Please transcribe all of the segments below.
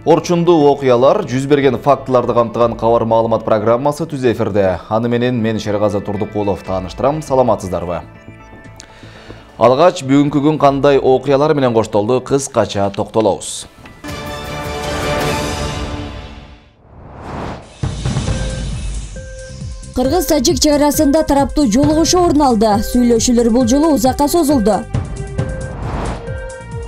Орчундуу окуялар, жүз берген фактыларды камтыган кабар маалымат программасы түз эфирде. Аны менен мен Шергазы Турдукулов тааныштырам. Саламатсыздарбы? Алгач бүгүнкү күн кандай окуялар менен коштолду, кыскача токтолобуз. Кыргыз-Тажик чек арасында тараптуу жолугушуу орун алды. Сүйлөшүүлөр бул жолу узакка созулду.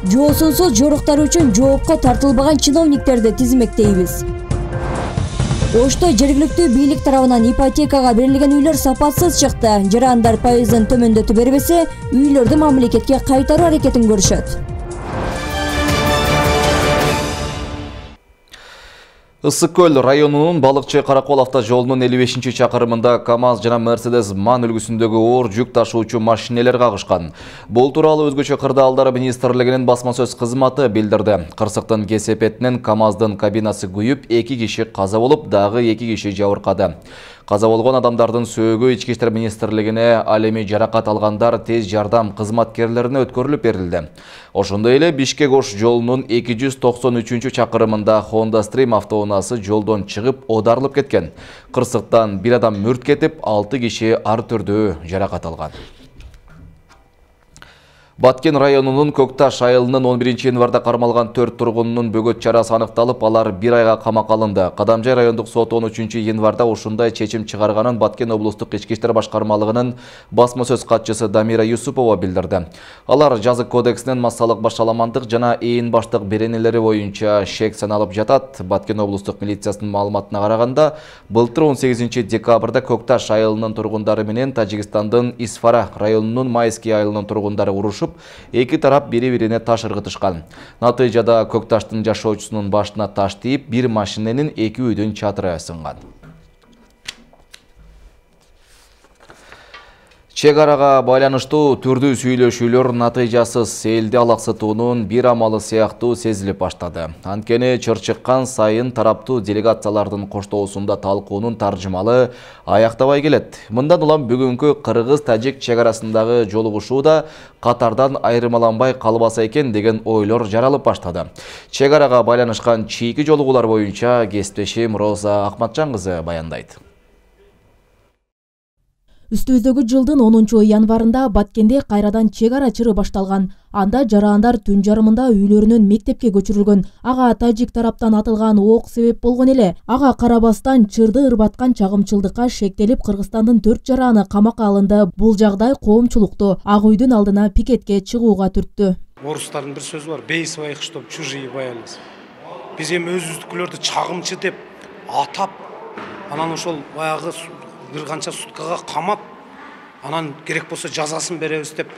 Жоосунсуз жоруктар үчүн жоопко тартылбаган чиновниктерди тизмектейбиз. Ошто жергиликтүү бийлик тарабынан ипотекага берилген үйлөр сапатсыз чыкты. Жарандар пайызын төмөндөтүп бербесе, үйлөрдү мамлекетке кайтаруу аракетин көрүшөт. Ысык көл районунун Балыкчы Каракол автожолунун 55-чакырымында КАМАЗ жана Мерседес МАН үлгүсүндөгү оор жүк ташуучу машинелер кагышкан. Бул тууралуу Өзгөчө кырдаалдар министрлигинин басма сөз кызматы билдирди. Кырсыктын кесепетинен КАМАЗдын кабинасы күйүп, 2 киши каза болуп, дагы 2 киши жабыркады. Каза болгон адамдардын сөөгү Ички иштер министрлигине, ал эми жаракат алгандар тез жардам кызматкерлерине өткөрүлүп берилди. Ошондой эле Бишкек-Ош жолунун 293-чакырымында Honda Stream автоунаасы жолдон чыгып, оодарылып кеткен. Кырсыктан бир адам мүрт кетип, 6 киши ар түрдүү жаракат алган. Баткен районунун Көкташ айылынын 11-январда кармалган 4 тургунунун бөгөт чарасы аныкталып, алар 1 айга камакка алынды. Кадамжай райондук сот 13-январда ушундай чечим чыгарганын Баткен облустук Ички иштер башкармалыгынын басма сөз катчысы Дамира Юсупова билдирди. Алар жазык кодексинин массалык башаламандык жана ээн баштык беренелери боюнча шек саналып жатат. Баткен облустук милициясынын маалыматына караганда, былтыр 18-декабрда Көкташ айылынын тургундары менен Тажикстандын Исфара районунун Майский айылынын тургундары урушуп, эки тарап бири-бирине таш ыргытышкан. Натыйжада Көкташтын жашоочусунун башына таш тийип, бир машиненин 2 үйдүн чатыры сынган. Чек арага байланыштуу түрдүү сүйлөшүүлөр натыйжасыз элди алаксытуунун бир амалы сыяктуу сезилип баштады. Анткени чыр-чыккан сайын тараптуу делегациялардын коштоосунда талкуунун таржымалы аяктабай келет. Мындан улам бүгүнкү Кыргыз-Тажик чек арасындагы жолугушууда катардан айырмаланбай калбаса экен деген ойлор жаралып баштады. Чек арага байланышкан чийки жолугуулар боюнча кесиптешим Роза Акматжан кызы баяндайт. Үстүбүздөгү жылдын 10-январында Баткенде кайрадан чек ара чыры башталган. Анда жарандар түн жарымында үйлөрүнөн мектепке көчүрүлгөн. Ага тажик тараптан атылган ок себеп болгон эле. Ага карабастан чырды ырбаткан чагымчылдыкка шектелип, Кыргызстандын 4 жараны камакка алынды. Бул жагдай коомчулукту Ак үйдүн алдына пикетке чыгууга түрттү. Орустардын бир сөзү бар: бей своих, чтоб чужие боялись. Биз эми өзүбүздүкүлөрдү чагымчы деп атап, анан ошол баягы бир канча суткага камап, анан керек болсо жазасын беребиз деп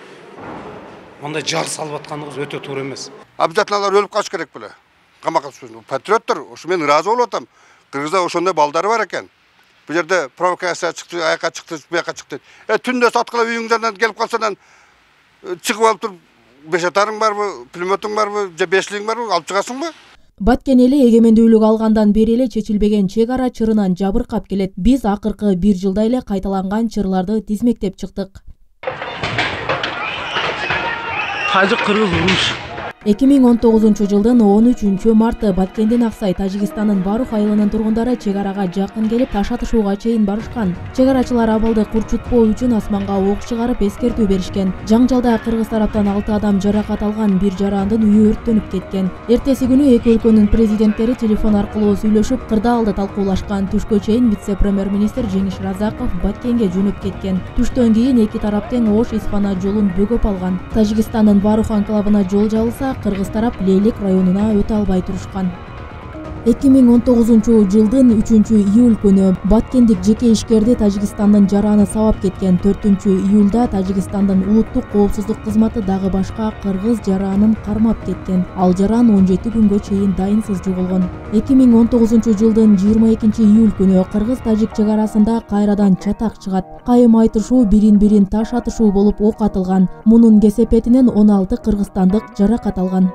мындай жар салып атканыбыз өтө туура эмес. Обязательно алар өлүп калыш керек беле. Камакка түшүн. Патриоттор, ошо мен ыраазы болуп атам. Кыргызда ошондой балдары бар экен. Бул жерде провокация чыкты, аяка чыкты, бияка чыкты. Түндө саткылап үйүңдөн келип калсадан чыгып алып туруп, бешатарың барбы, пулеметиң барбы, же бешлигиң барбы, алып чыгасыңбы? Баткен эли эгемендүүлүк алгандан бери эле чечилбеген чек ара чырынан жабыркап келет. Биз акыркы 1 жылда эле кайталанган чырларды тизмектеп чыктык. Тажик-кыргыз уруш. 2019 жылдын 13-марты Баткенден Аксай Тажикстандын Барух айылынын тургундары чек арага жакын келип, таш атышууга чейин барышкан. Чек арачылар абалды курчутпоо үчүн асманга ок чыгарып эскертүү беришкен. Жаңжалда кыргыз тараптан 6 адам жаракат алган, бир жарандын үйү өрттөнүп кеткен. Эртеси күнү эки өлкөнүн президенттери телефон аркылуу сүйлөшүп, кырдаалды талкуулашкан. Түшкө чейин вице-премьер-министр Жеңиш Разаков Баткенге жөнөп кеткен. Түштөн кийин эки тарап тең Ош-Исфана жолун бөгөп алган. Тажикстандын Барух анклавына жол жабылса, Кыргыз тарап Лейлик районуна өтө албай турушкан. 2019 жылдын 3-июль күнү Баткендик жеке ишкерди Тажикстандын жараны сабап кеткен. 4-июлда Тажикстандын улуттук коопсуздук кызматы дагы башка кыргыз жаранын кармап кеткен. Ал жаран 17 күнгө чейин дайынсыз жоголгон. 2019 жылдын 22-июль күнү Кыргыз-Тажик чек арасында кайрадан чатак чыгат. Кайым айтышуу, бирин-бирин таш атышуу болуп ок атылган. Мунун кесепетинен 16 кыргызстандык жаракат алган.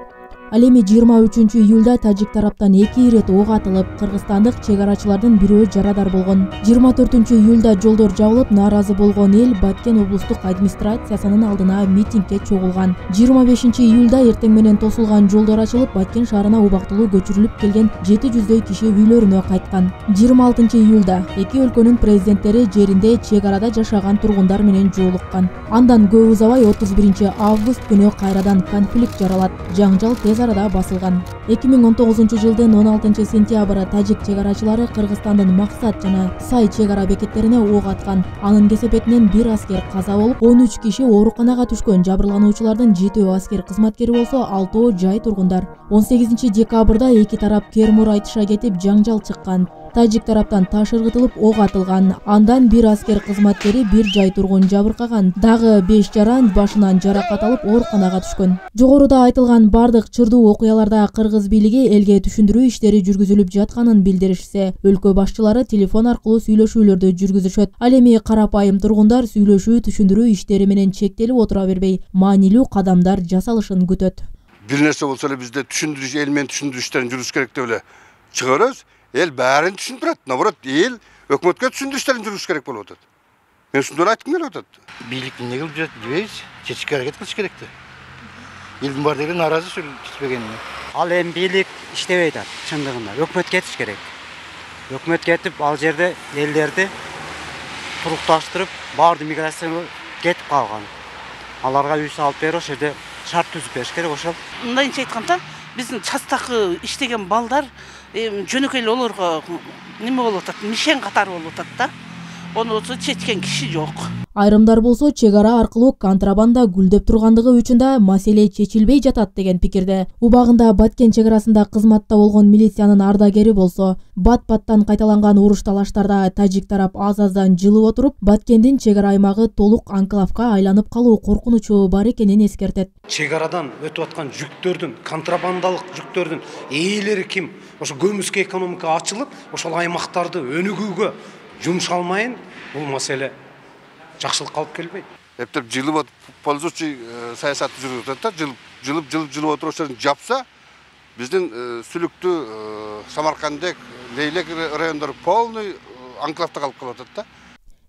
Ал эми 23 июлда тажик тараптан 2 ирет ок атылып, кыргызстандык чек арачылардын бирөө жарадар болгон. 24 июлда жолдор жабылып, нааразы болгон эл Баткен облустук администрациясынын алдына митингге чогулган. 25 июлда эртең менен тосулган жолдор ачылып, Баткен шаарына убактылуу көчүрүлүп келген 700дөй киши үйлөрүнө кайткан. 26 июлда эки өлкөнүн президенттери жеринде чек арада жашаган тургундар менен жолуккан. Андан көп узабай 31 август күнү кайрадан конфликт жаралат. Жаңжал тез арада басылган. 2019 жылдын 16 сентябры тажик чек арачылары Кыргызстандын Максат жана Сай чек ара бекеттерине ок аткан. Анын кесепетинен 1 аскер каза болуп, 13 киши ооруканага түшкөн. Жабырлануучулардын 7 аскер кызматкери болсо, 6 жай тургундар. 18 декабрда эки тарап кермур айтыша кетип, жаңжал чыккан. Тажик тараптан таш ыргытылып, ок атылган. Андан 1 аскер кызматкери, 1 жай тургун жабыркаган. Дагы 5 жаран башынан жаракат алып, ооруканага түшкөн. Жогоруда айтылган бардык чырдуу окуяларда кыргыз бийлиги элге түшүндүрүү иштери жүргүзүлүп жатканын билдиришсе, өлкө башчылары телефон аркылуу сүйлөшүүлөрдү жүргүзүшөт. Ал эми карапайым тургундар сүйлөшүү түшүндүрүү иштери менен чектелип отура бербей, маанилүү кадамдар жасалышын күтөт. Бир нерсе болсо эле бизде түшүндүрүш, эл менен түшүндүрүү иштерин жүргүзүш керек деп эле чыгарабыз. Эл бәрін түшүндүрөт. Наоборот, эл өкмөткө түшүндүрүү иштерин жүргүзүш керек болуп атат. Мен ушундайын айткым келип атат. Бийлик эмне кылып жүрөт дебейбиз, чечишке аракет кылыш керек да. Элдин баары деле нааразы чечпегенине. Ал эми бийлик иштебей атат, чындыгында. Өкмөт кетиш керек. Өкмөт кетип, ал жерде элдерди турукташтырып, баардык миграцияга кетип калган. Аларга үй салып берип, ошол жерде шарт түзүп бериш керек ошол. Мындайынча айтканда, биздин частакы иштеген балдар жөнөкөй эле олорго неме болуп атат, мишен катары болуп атат да. Ону чечкен киши жок. Айрымдар болсо, чек ара аркылуу контрабанда гүлдөп тургандыгы үчүн да маселе чечилбей жатат деген пикирде. Убагында Баткен чек арасында кызматта болгон милициянын ардагери болсо, бат-баттан кайталанган уруш талаштарда тажик тарап аз-аздан жылып отуруп, Баткендин чек ара аймагы толук анклавга айланып калуу коркунучу бар экенин эскертет. Чек арадан өтүп аткан жүктөрдүн, контрабандалык жүктөрдүн ээлери ким? Ошо көмүскө экономика ачылып, ошол аймактарды өнүгүүгө жумшалмайын, бул маселе жакшылыкка алып келбейт. Эптеп жылып отуруп, пользующий саясатты жүргүзүп атат да, жылып отуруп ошону жапса, биздин Сүлүктүү, Самаркандек, Лейлек райондору полный анклавда калып калып атат да.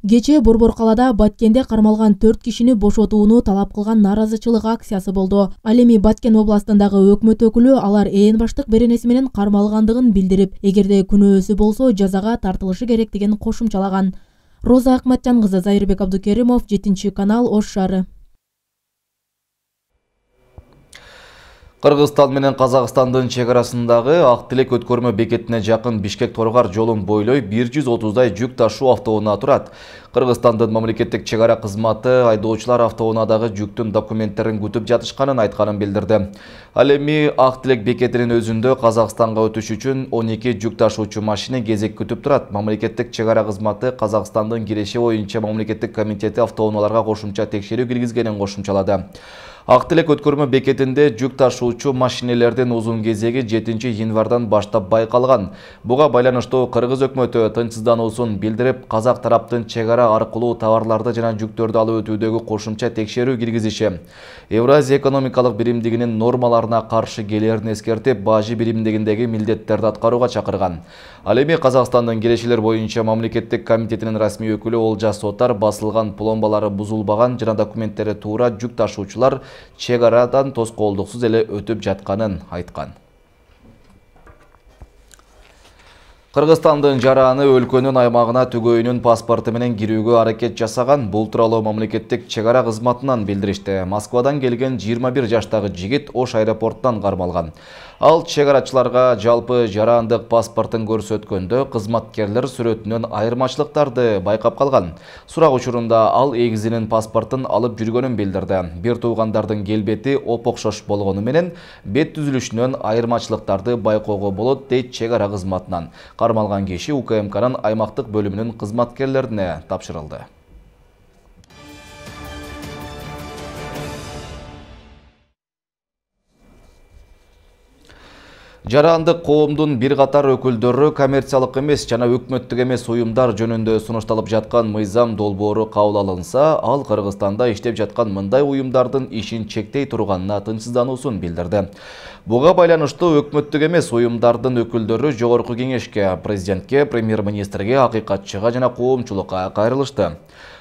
Кечээ Борбор калада Баткенде кармалган 4 кишини бошотууну талап кылган нааразычылык акциясы болду. Ал эми Баткен областындагы өкмөт өкүлү алар ээн баштык беренеси менен кармалгандыгын билдирип, эгерде күнөөсү болсо жазага тартылышы керектигин кошумчалаган. Роза Акматжан кызы, Зайырбек Абдукеримов, 7-канал, Ош шаары. Кыргызстан менен Казакстандын чек арасындагы Ак Тилек өткөрмө бекетине жакын Бишкек-Торгар жолун бойлой 130дай жүк ташуу автоунаа турат. Кыргызстандын мамлекеттик чек ара кызматы айдоочулар автоунаадагы жүктүн документтерин күтүп жатышканын айтканын билдирди. Ал эми Ак Тилек бекетинин өзүндө Казакстанга өтүш үчүн 12 жүк ташуучу машина кезек күтүп турат. Мамлекеттик чек ара кызматы Казакстандын киреши боюнча мамлекеттик комитети автоунааларга кошумча текшерүү киргизгенин кошумчалады. Ак Тилек өткөрмө бекетинде жүк ташуучу машинелердин узун кезеги 7 январдан баштап байкалган. Буга байланыштуу кыргыз өкмөтү тынчсыздануусун билдирип, казак тараптын чек ара аркылуу товарларды жана жүктөрдү алып өтүүдөгү кошумча текшерүү киргизиши, Евразия экономикалык биримдигинин нормаларына каршы келерин эскертип, бажы биримдигиндеги милдеттерди аткарууга чакырган. Ал эми Казакстандын кирешилер боюнча мамлекеттик комитетинин расмий өкүлү Олжас Сотар басылган пломбалары бузулбаган жана документтери туура жүк ташуучулар чек арадан тоскоолдуксуз эле өтүп жатканын айткан. Кыргызстандын жараны өлкөнүн аймагына түгөйүнүн паспорту менен кирүүгө аракет жасаган. Бул тууралуу мамлекеттик чек ара кызматынан билдиришти. Москвадан келген 21 жаштагы жигит Ош аэропортунан кармалган. Ал чек арачыларга жалпы жарандык паспортун көрсөткөндө кызматкерлер сүрөтүнөн айырмачылыктарды байкап калган. Сурак учурунда ал эгизинин паспортун алып жүргөнүн билдирди. Бир туугандардын келбети оп-окшош болгону менен бет түзүлүшүнөн айырмачылыктарды байкоого болот, дейт чек ара кызматынан. Кармалган киши УКМКнын аймактык бөлүмүнүн кызматкерлерине тапшырылды. Жарандык коомдун бир катар өкүлдөрү коммерциялык эмес жана өкмөттүк эмес уюмдар жөнүндө сунушталып жаткан мыйзам долбоору кабыл алынса, ал Кыргызстанда иштеп жаткан мындай уюмдардын ишин чектей турганына тынчсыздануусун билдирди. Буга байланыштуу өкмөттүк эмес уюмдардын өкүлдөрү Жогорку Кеңешке, президентке, премьер-министрге, акыйкатчыга жана коомчулукка кайрылышты.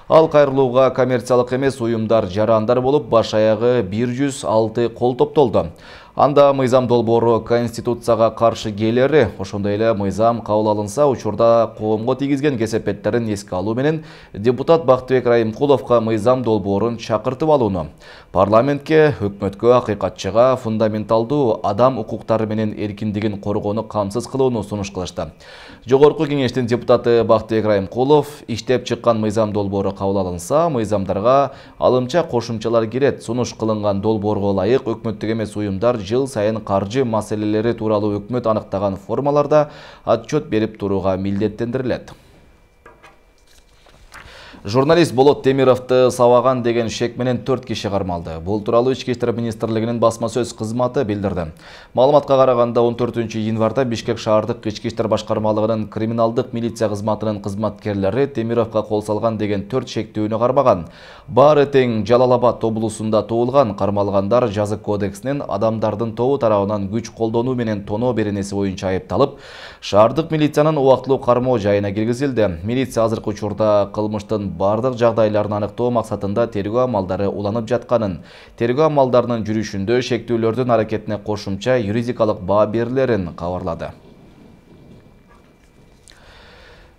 Ал кайрылууга коммерциялык эмес уюмдар жарандар болуп, баш аягы 106 кол топтолду. Анда мыйзам долбоору Конституцияга каршы келери, ошондой эле мыйзам кабыл алынса, учурда коомго тийгизген кесепеттерин эске алуу менен депутат Бактыбек Райымкуловго мыйзам долбоорун чакыртып алууну, парламентке, өкмөткө, акыйкатчыга фундаменталдуу адам укуктары менен эркиндигин коргоону камсыз кылууну сунуш кылышты. Жогорку Кеңештин депутаты Бактыбек Райымкулов иштеп чыккан мыйзам долбоору кабыл алынса, мыйзамдарга алымча кошумчалар кирет. Сунуш кылынган долбоорго ылайык өкмөттүк эмес уюмдар жыл сайын каржы маселелери тууралуу өкмөт аныктаган формаларда отчет берип турууга милдеттендирилет. Журналист Болот Темировду сабаган деген шек менен 4 киши кармалды. Бул тууралуу Ички иштер министрлигинин басма сөз кызматы билдирди. Маалыматка караганда 14-январда Бишкек шаардык Ички иштер башкармалыгынын криминалдык милиция кызматынын кызматкерлери Темировго кол салган деген 4 шектүүнү кармаган. Баары тең Жалал Абад облусунда туулган. Кармалгандар жазык кодексинин адамдардын тобу тарабынан күч колдонуу менен тоноо беренеси боюнча айыпталып, шаардык милициянын убактылуу кармоо жайына киргизилди. Милиция азыркы учурда кылмыштын бардык жагдайларын аныктоо максатында тергөө амалдары уланып жатканын, тергөө амалдарынын жүрүшүндө шектүүлөрдүн аракетине кошумча юридикалык баа берилерин кабарлады.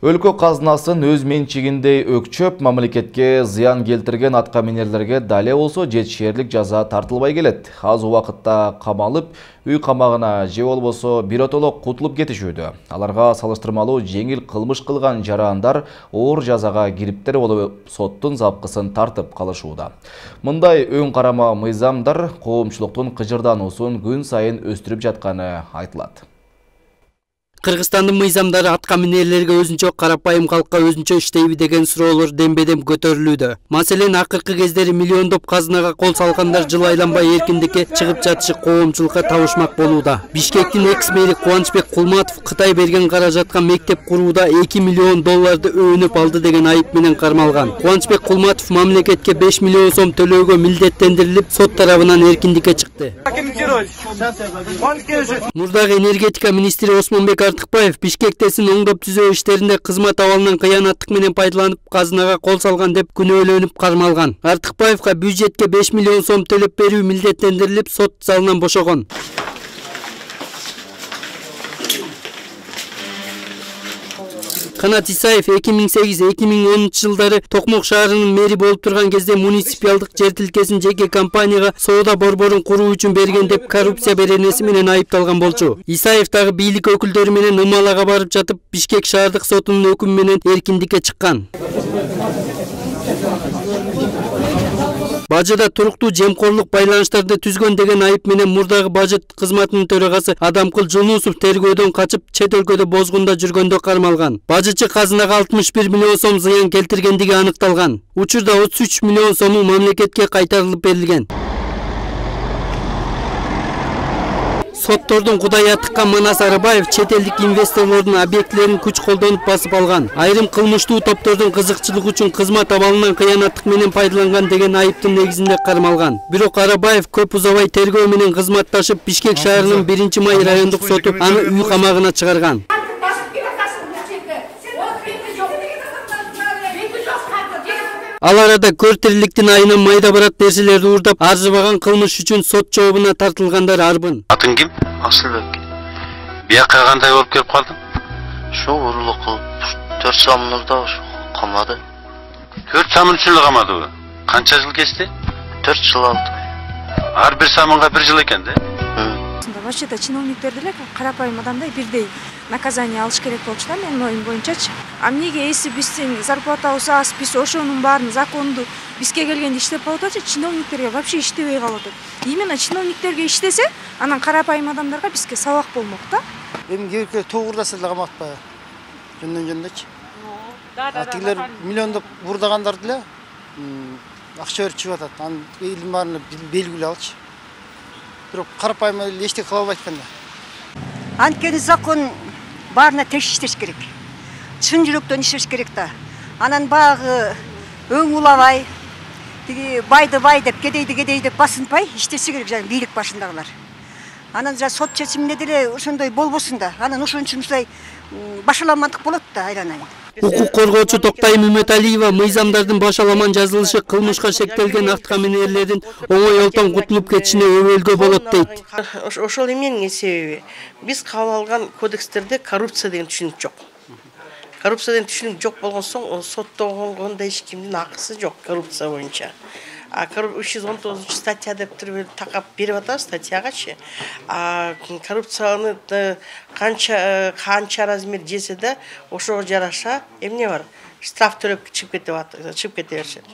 Өлкө казынасын өз менчигиндей өкчөп, мамлекетке зыян келтирген атка минерлерге дале болсо жетишерлик жаза тартылбай келет. Аз убакытта камалып, үй камагына же болбосо биротоло кутулуп кетишүүдө. Аларга салыштырмалуу жеңил кылмыш кылган жарандар оор жазага кириптер болуп, соттун запкысын тартып калышууда. Мындай өң карама мыйзамдар коомчулуктун кыжырдануусун күн сайын өстүрүп жатканы айтылат. Кыргызстандын мыйзамдары атка минерлерге өзүнчө, карапайым калкка өзүнчө иштейби деген суроолор дембедем көтөрүлүүдө. Маселен, акыркы кездери миллиондоп казынага кол салгандар жыл айланбай эркиндикке чыгып жатышы коомчулукка табышмак болууда. Бишкектин экс-мэри Кубанычбек Кулматов Кытай берген каражатка мектеп курууда $2 миллион өөнүп алды деген айып менен кармалган. Кубанычбек Кулматов мамлекетке 5 миллион сом төлөөгө милдеттендирилип, сот тарабынан эркиндикке чыкты. Мурдагы энергетика министри Осмонбек Артыкбаев Бишкектесин оңдоп түзөө иштеринде кызмат абалынан кыянаттык менен пайдаланып казынага кол салган деп күнөөлөнүп кармалган. Артыкбаевга бюджетке 5 миллион сом төлөп берүү милдеттендирилип, сот залынан бошогон. Канат Исаев 2008-2010 жылдары Токмок шаарынын мэри болуп турган кезде муниципалдык жер тилкесин жеке компанияга соода борборун куруу үчүн берген деп коррупция беренеси менен айыпталган болчу. Исаев дагы бийлик өкүлдөрү менен Ымалага барып жатып, Бишкек шаардык сотунун өкүмү менен эркиндикке чыккан. Бажыда туруктуу жемкорлук байланыштарды түзгөн деген айып менен мурдагы бажыт кызматынын төрагасы Адамкул Жунусов тергөөдөн качып, чет өлкөдө бозгунда жүргөндө кармалган. Бажычы казынага 61 миллион сом зыян келтиргендиги аныкталган. Учурда 33 миллион сому мамлекетке кайтарылып берилген. Соттордун кудайга тыккан Манас Арабаев чет элдик инвесторлордун объектилерин күч колдонуп басып алган. Айрым кылмыштуу топтордун кызыкчылыгы үчүн кызмат абалынан кыянаттык менен пайдаланган деген айыптын негизинде кармалган. Бирок Арабаев көп узабай тергөө менен кызматташып, Бишкек шаарынын 1-май райондук соту аны үй камагына чыгарган. Ал арада көр тириликтин айынан майда барат нерселерди уурдап, арзыбаган кылмыш үчүн сот жообуна тартылгандар арбын. Атың ким? Асылбек. Бияка кандай болуп келип калдың? Şu uğurluk kılıp 4 samınırda kamadı. 4 samın üçün kamadı bu. Kança yıl geçti? 4 yıl aldı. Her bir samınga 1 yıl eken de? Вообще-то чиновниктер деле карапайым адамдай бирдей наказание алыш керек болчу да, менин оюм боюнчачы. А эмнеге эси биздин зарплатабыз аз, биз ошонун баарын законду бизге келгенде иштеп болуп атат, чиновниктерге вообще иштебей калып атат. Именно чиновниктерге иштесе, анан карапайым адамдарга бизге сабак болмок да. Эми кээ-биркээ тогурдаса деле каматпайбы. Жөндөн-жөндөчү. Тигилер миллиондоп бурдагандар деле акча берип чыгып атат. Анын элдин баарына белгилүү алчы. Бирок карапайым эле эчтеке кыла албайт экен да. Анткени закон баарына теш иштеш керек. Чын жүрөктөн иштеш керек да. Анан багы өң улабай, тиги байды бай деп, кедейди деп басынпай иштесе керек жана бийлик башындагылар. Анан жа сот чечимине деле ошондой болбосун да. Анан ошон үчүн мындай башаламандык болот да айланайын. Укук коргоочу Токтайым Үмөталиева мыйзамдардын башаламан жазылышы кылмышка шектелген автокаминерлердин оңой олтон кутулуп кетишине өбөлгө болот дейт. Ошол эменин себеби биз кабыл алган кодекстерде коррупция деген түшүнүк жок. Коррупция деген түшүнүк жок болгон соң соттогондо эч кимдин акысы жок коррупция боюнча. 319 статья деп туруп такап берип атабыз статьягачы. Коррупцияны канча размер жесе да ошого жараша эмне бар? Штраф төлөп чыгып кете беришет.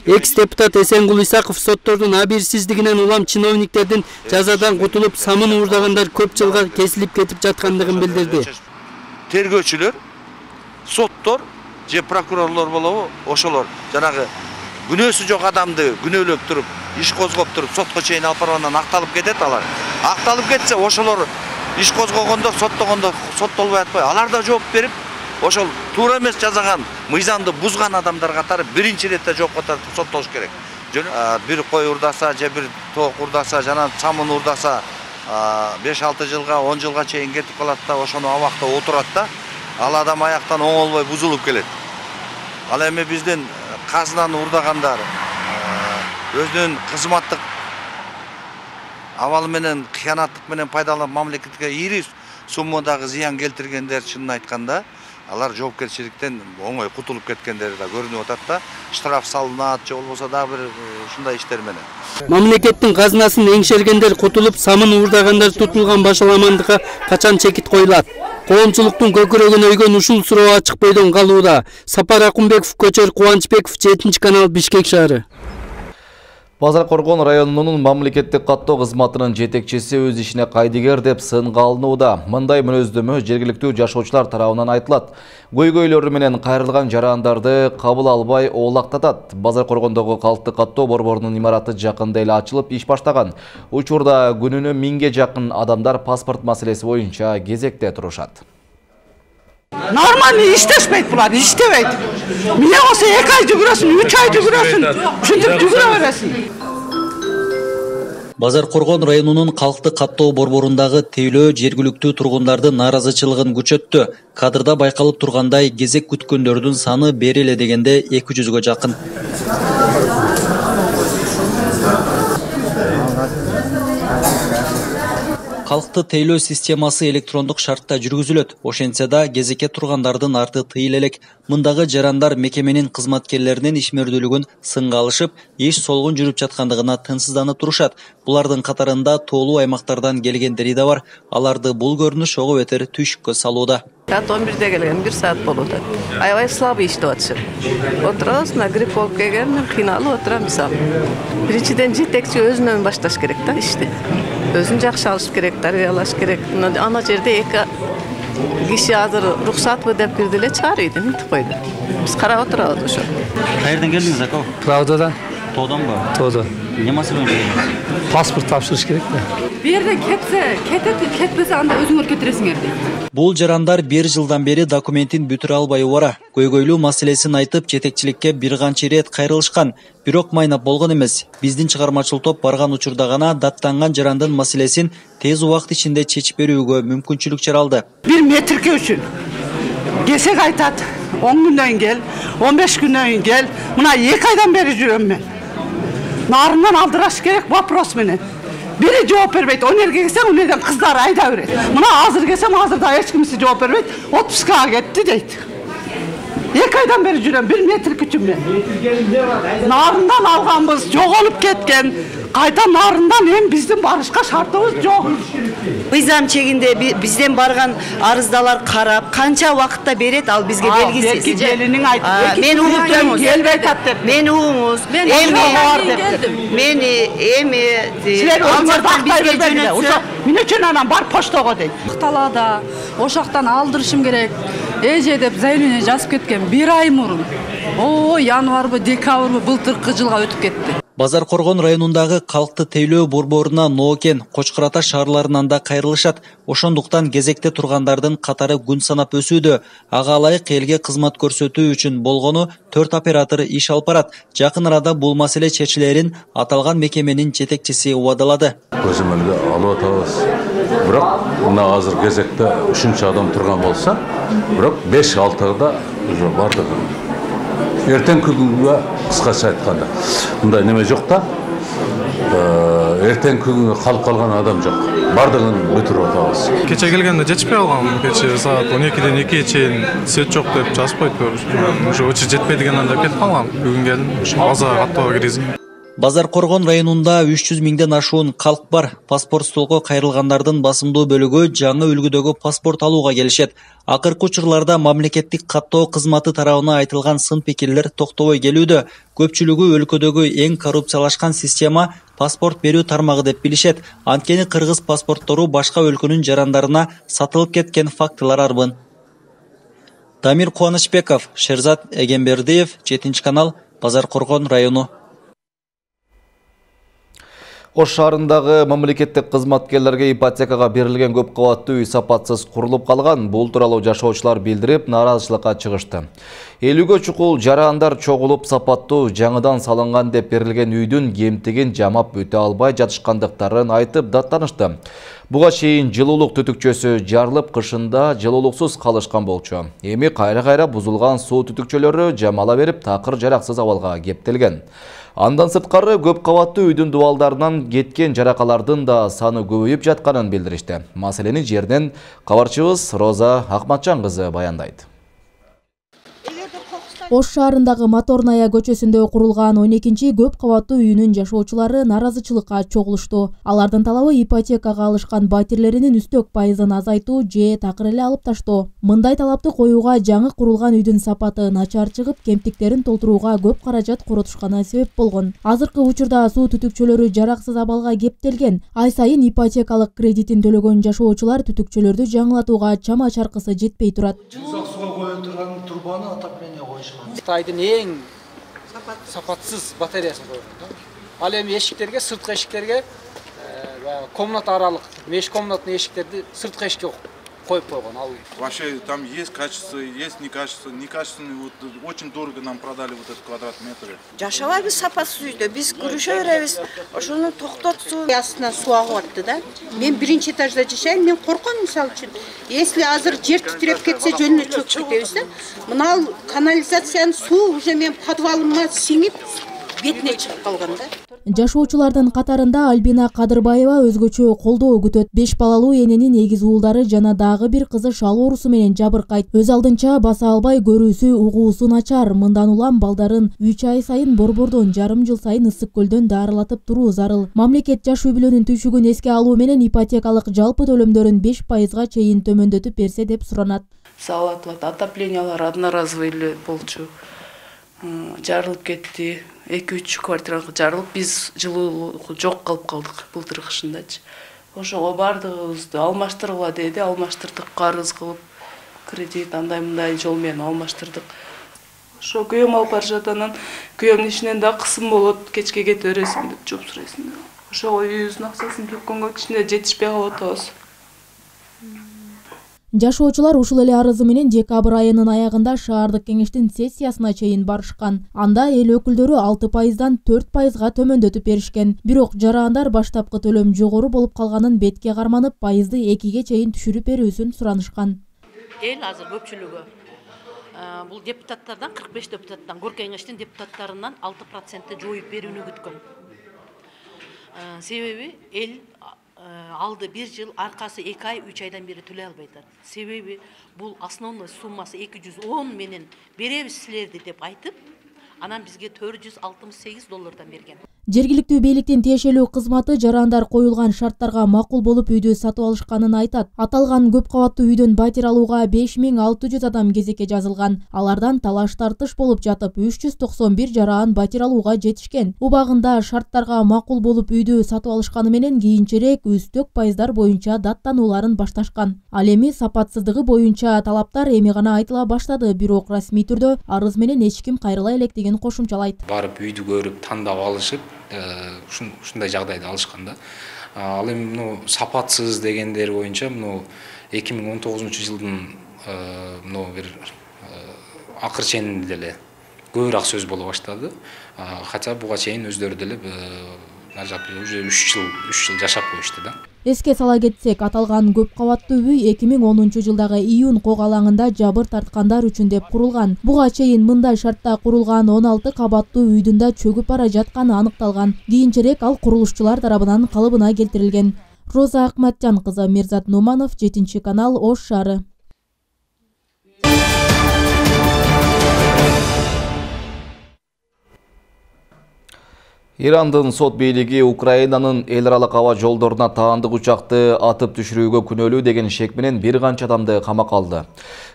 Экс-депутат Эсенгул Исаков соттордун абийирсиздигинен улам чиновниктердин жазадан кутулуп самын уурдагандар көп жылга кесилип кетип жаткандыгын билдирди. Тергөөчүлөр, соттор же прокурорлор болобу, ошолор жанагы күнөөсү жок адамды күнөөлөп туруп, иш козгоп туруп, сотко чейин алып баргандан акталып кетет алар. Акталып кетсе, ошолор иш козгогондо, соттогондо соттолбой атпайбы? Алар да жооп берип, ошол туура эмес жазаган, мыйзамды бузган адамдар катары биринчи иретте жоопко тартып соттолуш керек. Бир кой урдаса, же бир тоок урдаса, жана самын урдаса, 5-6 жылга, 10 жылга чейин кетип калат да, ошону абакта отурат да, ал адам аяктан оңолбой бузулуп келет. Ал эми биздин казынаны урдагандар, өзүнүн кызматтык абалы менен, кыянаттык менен пайдаланып мамлекетке ири суммадагы зыян келтиргендер, чынын айтканда, алар жоопкерчиликтен оңой кутулуп кеткендери да көрүнүп атат да, штраф салынат, же болбосо дагы бир ушундай иштер менен. Мамлекеттин казынасын эңшергендер кутулуп, самын уурдагандар тутулган башаламандыкка качан чекит коюлат? Коомчулуктун көкүрөгүн өйгөн ушул суроо ачык бойдон калууда. Сапар Акунбеков, Көчөр Кубанычбеков, 7-канал, Бишкек шаары. Базар Коргон районунун мамлекеттик каттоо кызматынын жетекчиси өз ишине кайдыгер деп сынга алынууда. Мындай мүнөздөмө жергиликтүү жашоочулар тарабынан айтылат. Көйгөйлөрү менен кайрылган жарандарды кабыл албай оолактатат. Базар Коргондогу калктык каттоо борборунун имараты жакында эле ачылып иш баштаган. Учурда күнүнө 1000ге жакын адамдар паспорт маселеси боюнча кезекте турушат. Нормально иштешпейт булар, иштебейт. Эмне болсо 2 ай жүгүрөсүн, 3 ай жүгүрөсүн, ушинтип жүгүрө бересиң. Базар Коргон районунун калктык каттоо борборундагы тейлөө жергиликтүү тургундардын нааразычылыгын күчөттү. Кадрда байкалып тургандай, кезек күткөндөрдүн саны бери эле дегенде 200гө жакын. Калкты тейлөө системасы электрондук шартта жүргүзүлөт. Ошентсе да кезекке тургандардын арты тыйыл элек. Мындагы жарандар мекеменин кызматкерлеринин ишмердүүлүгүн сынга алышып, эч солгун жүрүп жаткандыгына тынчсызданып турушат. Булардын катарында тоолуу аймактардан келгендери да бар. Аларды бул көрүнүш ого бетер түйшүккө салууда. Саат 11'de келген, 1 saat болууда. Аябай слабый иштеп атышат. Отурабыз, на грипп болуп келген, кыйналып отурам мисалы. Биринчиден жетекчи өзүнөн башташ керек да ишти. Өзүн жакшы алыш керек, тарбиялаш керек. Ана жерде 2 киши азыр рухсатбы деп кирди эле чыгарып мынтип койду. Биз карап отурабыз ошо. Каерден келдиңиз ака? Правдадан. Тооданбы? Тоодо. Эмне маселе менен? Паспорт тапшырыш керек да. Бу жерден кетет, кетпесе анда өзүңөр кетиресиңер дейт. Бул жарандар 1 жылдан бери документин бүтүрө албай убара. Көйгөйлүү маселесин айтып, жетекчиликке бир канча ирет кайрылышкан. Бирок майнап болгон эмес. Биздин чыгармачыл топ барган учурда гана даттанган жарандын маселесин тез убакыт ичинде чечип берүүгө мүмкүнчүлүк жаралды. 1 метрге үчүн кесек айтат, 10 күндөн кел, 15 күндөн кел. Мына 2 айдан бери жүрөм мен. Нарынан алдыраш керек вопрос менен. Бири жооп бербейт. Өнерге келсең, өнерден кыздар айда берет. Мына азыр келсем, азырда эч кимси жооп бербейт. Отпускага кетти дейт. 2 айдан бери жүрөм, 1 метр күчүм мен. Нарындан алганбыз, жоголуп кеткен. Кайта нарындан эми биздин барышка шартыбыз жок. Мыйзам чегинде бизден барган арыздалар карап, канча убакытта берет, ал бизге белгисиз. Белги келинин айтты. Мен угуп келбей атат деп. Мен угуңуз. Мени эми силер өзүңөрдү бизге жөнөтсө, мен үчүн анан бар поштого дейт. Талаада ошактан алдырышым керек. эже деп заявление жазып кеткен 1 ай мурун. Январбы, декабрбы былтыркы жылга өтүп кетти. Базар Коргон районундагы калкты тейлөө борборуна Ноокен, Кочкор Ата шаарларынан да кайрылышат. Ошондуктан кезекте тургандардын катары күн санап өсүүдө. Ага ылайык элге кызмат көрсөтүү үчүн болгону 4 оператор иш алып барат. Жакын арада бул маселе чечилерин аталган мекеменин жетекчиси убадалады. Көзөмөлгө алып атабыз. Бирок мына азыр кезекте 3 адам турган болсо, бирок 5-6-да уже бардыгы. Эртең күнгө кыскача айтканда мындай неме жок да. Эртең күнгө калып калган адам жок. Бардыгын бүтүрүп атабыз. Кече келгенде жетишпей калгам. Кече саат 12ден 2ге чейин свет жок деп жазып койду. Уже очи жетпейдигенен деп кетип калгам. Бүгүн келдим. База каттоо киргизим. Базар Коргон районунда 300 миңден ашуун калк бар. Паспорт столго кайрылгандардын басымдуу бөлүгү жаңы үлгүдөгү паспорт алууга келишет. Акыркы учурларда мамлекеттик каттоо кызматы тарабына айтылган сын пикирлер токтобой келүүдө. Көпчүлүгү өлкөдөгү эң коррупциялашкан система паспорт берүү тармагы деп билишет. Анткени кыргыз паспорттору башка өлкөнүн жарандарына сатылып кеткен фактылар арбын. Дамир Кубанычбеков, Шерзат Эгембердиев, 7-канал, Базар Коргон району. Ош шаарындагы мамлекеттик кызматкерлерге ипотекага берилген көп кабаттуу үй сапатсыз курулуп калган. Бул тууралуу жашоочулар билдирип, нааразычылыкка чыгышты. Элүүгө чукул жарандар чогулуп сапаттуу жаңыдан салынган деп берилген үйдүн кемтигин жамап өтө албай жатышкандыктарын айтып даттанышты. Буга чейин жылуулук түтүкчөсү жарылып, кышында жылуулуксуз калышкан болчу. Эми кайра-кайра бузулган суу түтүкчөлөрү жамала берип, такыр жараксыз абалга кептелген. Андан сырткары көп кабаттуу үйдүн дубалдарынан кеткен жаракалардын да саны көбөйүп жатканын билдиришти. Маселени жерден кабарчыбыз Роза Акматжан кызы баяндайт. Ош шаарындагы Моторная көчөсүндө курулган 12-чи көп кабаттуу үйүнүн жашоочулары нааразычылыкка чогулушту. Алардын талабы ипотекага алышкан батирлеринин үстөк пайызын азайтуу же такыр эле алып таштоо. Мындай талапты коюуга жаңы курулган үйдүн сапаты начар чыгып, кемтиктерин толтурууга көп каражат коротушканы себеп болгон. Азыркы учурда суу түтүкчөлөрү жараксыз абалга кептелген. Ай сайын ипотекалык кредитин төлөгөн жашоочулар түтүкчөлөрдү жаңылатууга чама чаркысы жетпей турат. Суга коюп турган турбаны отопление коюшкан. Кытайдын эң сапатсыз батареясын койгон. Ал эми эшиктерге, сырткы эшиктерге комната аралык, меш комнатный эшиктерди сырткы эшикке коюп койгон. Ал вообще там есть качество, есть некачественный, вот очень дорого нам продали вот этот квадрат метр. Жашабайбыз сапасыз үйдө, биз күрүшө беребиз. Ошону токтотсун. Астына суу агып атты да. Мен биринчи этажда жашайм, мен корком мисалы үчүн. Если азыр жер титиреп кетсе жөнүнө чөкүп кетебиз да. Мына канализациянын суу уже мен подвалыма сиңип бетине чыгып калган да. Жашоочулардын катарында Альбина Кадырбаева өзгөчө колдоо күтөт. 5 балалуу эненин эгиз уулдары жана дагы бир кызы шал оорусу менен жабыркайт. Өз алдынча баса албай көрүүсү, угуусу начар. Мындан улам балдарын 3 ай сайын борбордон, жарым жыл сайын ысык көлдөн дарылатып туруу зарыл. Мамлекет жаш үй бүлөнүн түйшүгүн эске алуу менен ипотекалык жалпы төлөмдөрүн 5%га чейин төмөндөтүп берсе деп суранат. Салат, отоплениялар одноразовый эле болчу. Жарылып кетти. 2-3 квартиралык жарылып, биз жылуулук жок калып калдык былтыр кышындачы. Ошого бардыгыбызды алмаштыргыла деди, алмаштырдык, карыз кылып, кредит андай-мындай жол менен алмаштырдык. Ошо күйөөм алып бара жатат, анан күйөөмдүн ишинен да кысым болот, кечке кете бересиң деп жооп сурайсың. Ошого үйүбүздүн акчасын төккөнгө кичине жетишпей калып атабыз. Жашоочулар ушул эле арызы менен декабрь айынын аягында шаардык кеңештин сессиясына чейин барышкан. Анда эл өкүлдөрү 6%дан 4%га төмөндөтүп беришкен. Бирок жарандар баштапкы төлөм жогору болуп калганын бетке карманып, пайызды 2-ге чейин түшүрүп берүүсүн суранышкан. Эл азыр көпчүлүгү бул депутаттардан 45 депутаттан, Горкой кеңештин депутаттарынан 6% жоюп берүүнү күткөн. Себеби эл алды 1 жыл, аркасы 2 ай, 3 айдан бери төлөй албайдар. Себеби бул основной суммасы 210 менен беребиз силерди деп айтып, анан бизге $468 берген. Жергиликтүү бийликтин тиешелүү кызматы жарандар коюлган шарттарга макул болуп үйдү сатып алышканын айтат. Аталган көп кабаттуу үйдөн батир алууга 5600 адам кезекке жазылган. Алардан талаш тартыш болуп жатып 391 жаран батир алууга жетишкен. Убагында шарттарга макул болуп үйдү сатып алышканы менен кийинчерээк үстөк пайыздар боюнча даттанууларын башташкан. Ал эми сапатсыздыгы боюнча талаптар эми гана айтыла баштады, бирок расмий түрдө арыз менен эч ким кайрыла элек деген кошумчалайт. Барып үйдү көрүп тандап алышып, ушундай жагдайда алышкан да. Ал эми сапатсыз дегендер боюнча 2019-жылдын бир акыр ченинде деле көбүрөөк сөз боло баштады. Хотя буга чейин өздөрү деле уже 3 жыл жашап коюшту да. Эске сала кетсек, аталган көп кабаттуу үй 2010-жылдагы июнь кок алаңында жабыр тарткандар үчүн деп курулган. Буга чейин мындай шартта курулган 16 кабаттуу үйдүн да чөгүп бара жатканы аныкталган. Кийинчерээк ал курулушчулар тарабынан калыбына келтирилген. Роза Акматжан кызы, Мирзат Нуманов, 7-канал, Ош шаары. Ирандын сот бийлиги Украинанын эл аралык аба жолдоруна таандык учакты атып түшүрүүгө күнөөлүү деген шек менен бир канча адамды камакка алды.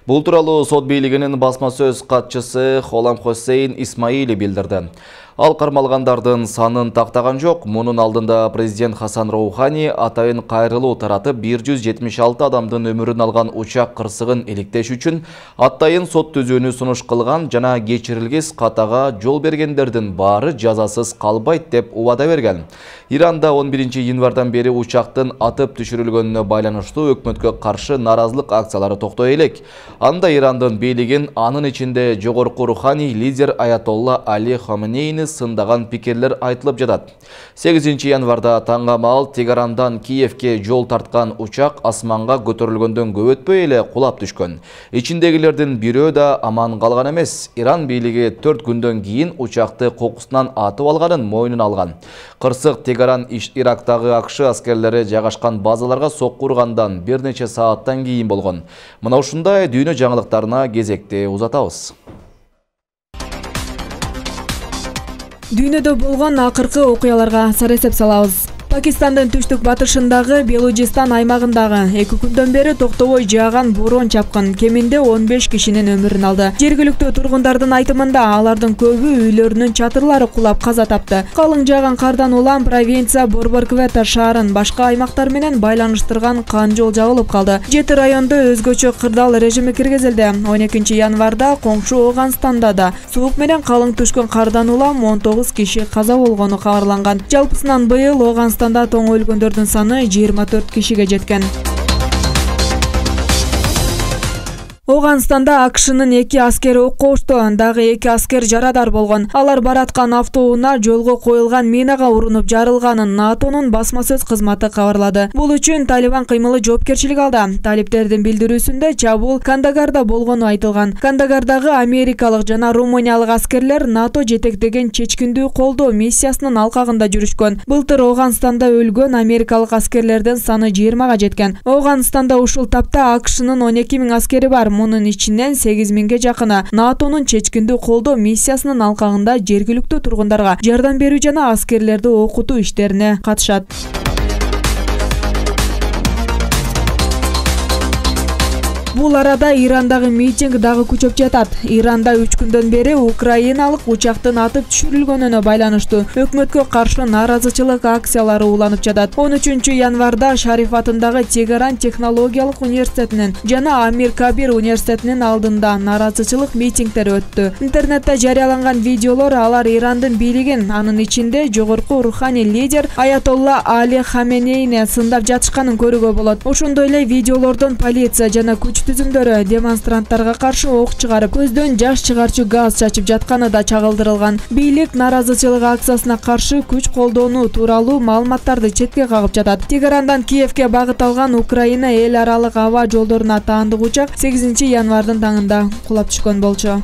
Бул тууралуу сот бийлигинин басма сөз катчысы Холам Хосейн Исмаили билдирди. Ал кармалгандардын санын тактаган жок. Мунун алдында президент Хасан Роухани атайын кайрылуу таратып 176 адамдын өмүрүн алган учак кырсыгын иликтеш үчүн атайын сот түзүүнү сунуш кылган жана кечирилгис катага жол бергендердин баары жазасыз калбайт деп убада берген. Иранда 11-январдан бери учактын атып түшүрүлгөнүнө байланыштуу өкмөткө каршы наразылык акциялары токтой элек. Анда Ирандын бийлигин, анын ичинде жогорку руханий лидер Аятолла Али Хаменейни сындаган пикирлер айтылып жатат. 8-январда таңга маал Тегарандан Киевке жол тарткан учак асманга көтөрүлгөндөн көп өтпөй эле кулап түшкөн. Ичиндегилердин бирөө да аман калган эмес. Иран бийлиги 4 күндөн кийин учакты кокусунан атып алганын мойнуна алган. Кырсык Тегаран Ирактагы АКШ аскерлери жайгашкан базаларга сокку ургандан бир нече сааттан кийин болгон. Мына ушундай дүйнө жаңылыктарына кезекти узатабыз. Дүйнөдө болгон акыркы окуяларга саресеп салабыз. Пакистандын түштүк батышындагы Белужистан аймагындагы 2 күндөн бери токтобой жааган борон чапкын кеминде 15 кишинин өмүрүн алды. Жергиликтүү тургундардын айтымында алардын көбү үйлөрүнүн чатырлары кулап каза тапты. Калың жааган кардан улам провинция Борборквета шаарын башка аймактар менен байланыштырган кан жол жабылып калды. 7 райондо өзгөчө кырдаал режими киргизилди. 12-январда коңшу Оганстанда да суук менен калың түшкөн кардан улам 19 киши каза болгону кабарланган. Жалпысынан быйыл Оганстанда тоң өлгөндөрдүн саны 24 кишиге жеткен. Оганстанда АКШнын 2 аскери окко ушту, дагы 2 аскер жарадар болгон. Алар бараткан автоунаа жолго коюлган минага урунуп жарылганын НАТОнун басма сөз кызматы кабарлады. Бул үчүн Талибан кыймылы жоопкерчилик алды. Талиптердин билдирүүсүндө чабуул Кандагарда болгону айтылган. Кандагардагы америкалык жана румыниялык аскерлер НАТО жетектеген чечкиндүү колдоо миссиясынын алкагында жүрүшкөн. Былтыр Оганстанда өлгөн америкалык аскерлердин саны 20га жеткен. Оганстанда ушул тапта АКШнын 12 000 аскери бар. Мунун ичинен 8 000ге жакыны НАТОнун чечкиндүү колдоо миссиясынын алкагында жергиликтүү тургундарга жардам берүү жана аскерлерди окутуу иштерине катышат. Бул арада Ирандагы митинг дагы күчөп жатат. Иранда 3 күндөн бери украиналык учактын атып түшүрүлгөнүнө байланыштуу өкмөткө каршы наразычылык акциялары уланып жатат. 13-январда Шариф атындагы Тегеран технологиялык университетинин жана Амир Кабир университетинин алдында наразычылык митингдер өттү. Интернетте жарыяланган видеолор алар Ирандын бийлигин, анын ичинде жогорку руханий лидер Аятолла Али Хаменейни сындап жатышканын көрүүгө болот. Ошондой эле видеолордон полиция жана күч түзүмдөрү демонстранттарга каршы ок чыгарып, көздөн жаш чыгарчу газ чачып жатканы да чагылдырылган. Бийлик наразычылык акциясына каршы күч колдонуу тууралуу маалыматтарды четке кагып жатат. Тегерандан Киевке багыт алган Украина эл аралык аба жолдоруна таандык учак 8-январдын таңында кулап түшкөн болчу.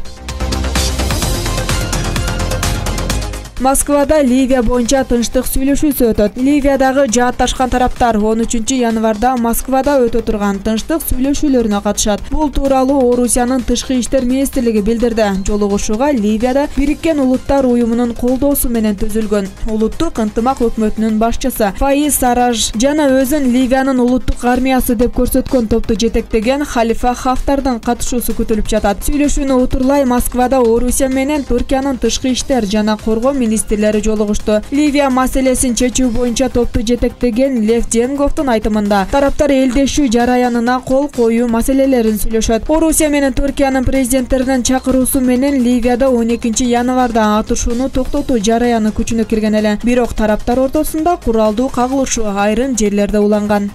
Москвада Ливия боюнча тынчтык сүйлөшүүсү өтөт. Ливиядагы жаатташкан тараптар 13 январда Москвада өтө турган тынчтык сүйлөшүүлөрүнө катышат. Бул тууралуу Орусиянын тышкы иштер министрлиги билдирди. Жолугушууга Ливияда Бириккен Улуттар уюмунун колдоосу менен түзүлгөн. Улуттук ынтымак өкмөтүнүн башчысы Фаиз Сараж жана өзүн Ливиянын улуттук армиясы деп көрсөткөн топту жетектеген Халифа Хафтардын катышуусу күтүлүп жатат. Сүйлөшүүнү утурлай Москвада Орусия менен Түркиянын тышкы иштер жана коргоо министрлери жолугушту. Ливия маселесин чечүү боюнча топту жетектеген Лев Денговдун айтымында тараптар элдешүү жараянына кол коюу маселелерин сүйлөшөт. Орусия менен Түркиянын президенттеринин чакыруусу менен Ливияда 12 январда атышууну токтотуу жараяны күчүнө кирген эле. Бирок тараптар ортосунда куралдуу кагылышуу айрым жерлерде уланган.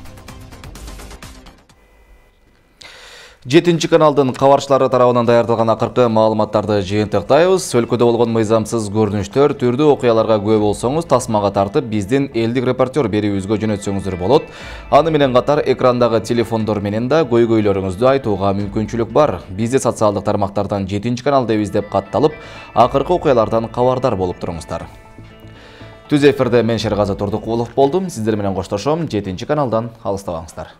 7 каналдын кабарчылары тарабынан даярдалган акыркы маалыматтарды жыйынтыктайбыз. Өлкөдө болгон мыйзамсыз көрүнүштөр, түрдүү окуяларга күбө болсоңуз, тасмага тартып, биздин элдик репортер берүүбүзгө жөнөтсөңүздөр болот. Аны менен катар экрандагы телефондор менен да көйгөйлөрүңүздү айтууга мүмкүнчүлүк бар. Бизди социалдык тармактардан 7 канал деп издеп катталып, акыркы окуялардан кабардар болуп туруңуздар. Түз эфирде мен Шергазы Турдукулов болдум. Сиздер менен коштошом. 7 каналдан алыстабаңыздар.